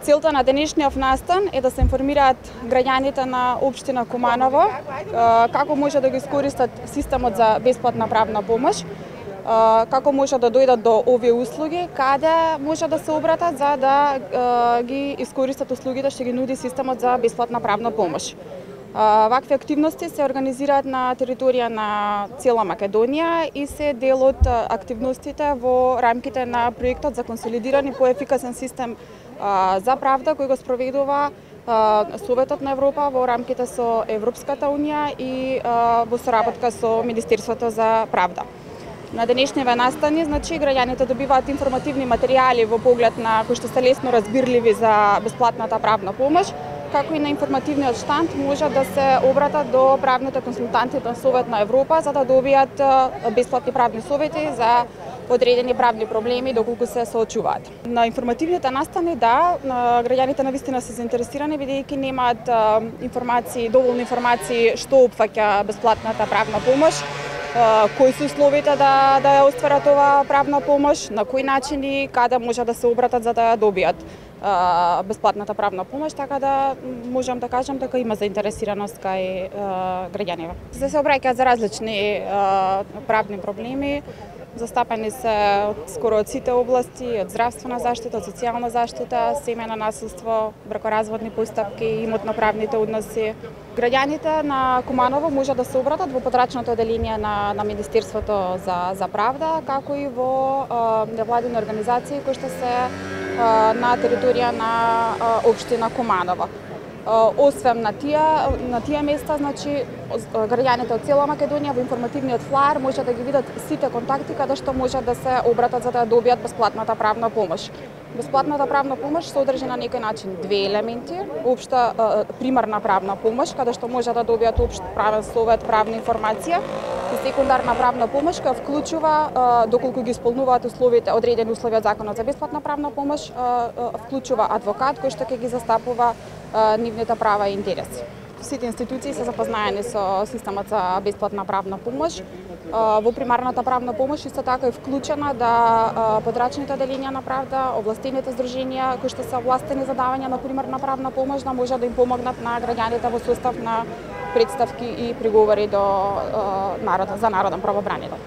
Целта на денешниот настан е да се информираат граѓаните на општина Куманово како може да го искористат системот за бесплатна правна помош, како може да дојдат до овие услуги, каде може да се обратат за да ги искористат услугите што ги нуди системот за бесплатна правна помош. Вакви активности се организираат на територија на цела Македонија и се дел од активностите во рамките на проектот за консолидиран и поефикасен систем за правда кој го спроведува Советот на Европа во рамките со Европската унија и во соработка со Министерството за правда. На денешниве настани, граѓаните добиваат информативни материјали во поглед на кои што се лесно разбирливи за бесплатната правна помош, како и на информативниот штанд може да се обратат до правните консултанти на Совет на Европа за да добијат бесплатни правни совети за одредени правни проблеми доколку се соочуваат. На информативните настани, граѓаните навистина се заинтересирани бидејќи немаат доволни информации што опфаќа бесплатната правна помош, кои се условите да ја остварат оваа правна помош, на кои начини, каде може да се обратат за да ја добијат бесплатната правна помош, така да можам да кажам дека има заинтересираност кај граѓаните. Se обраќаат за различни правни проблеми, застапени се скоро од сите области, од здравствена заштита, од социјална заштита, семејно насилство, бракоразводни постапки, имотно-правните односи. Граѓаните на Куманово може да се обратат во подрачното оделение на Министерството за правда, како и во невладини организации кои што се на територија на општина Куманово. Освен на тие места, граѓаните од цела Македонија во информативниот флаер може да ги видат сите контакти каде што може да се обратат за да добијат бесплатната правна помош. Бесплатната правна помош се одржи на некој начин две елементи: општа примарна правна помош каде што може да добијат општ правен совет, правна информација, и секундарна правна помош која вклучува, доколку ги исполнуваат условите, одредени услови од Законот за бесплатна правна помош, вклучува адвокат кој што ќе ги застапува нивните права и интереси. Сите институции се запознаени со системот за бесплатна правна помош. Во примарната правна помош исто така е вклучена подрачните оделенија на правда, овластените здруженија кои што се овластени за давање на примарна правна помош да може да им помогнат на граѓаните во состав на представки и приговори за народен правобранител.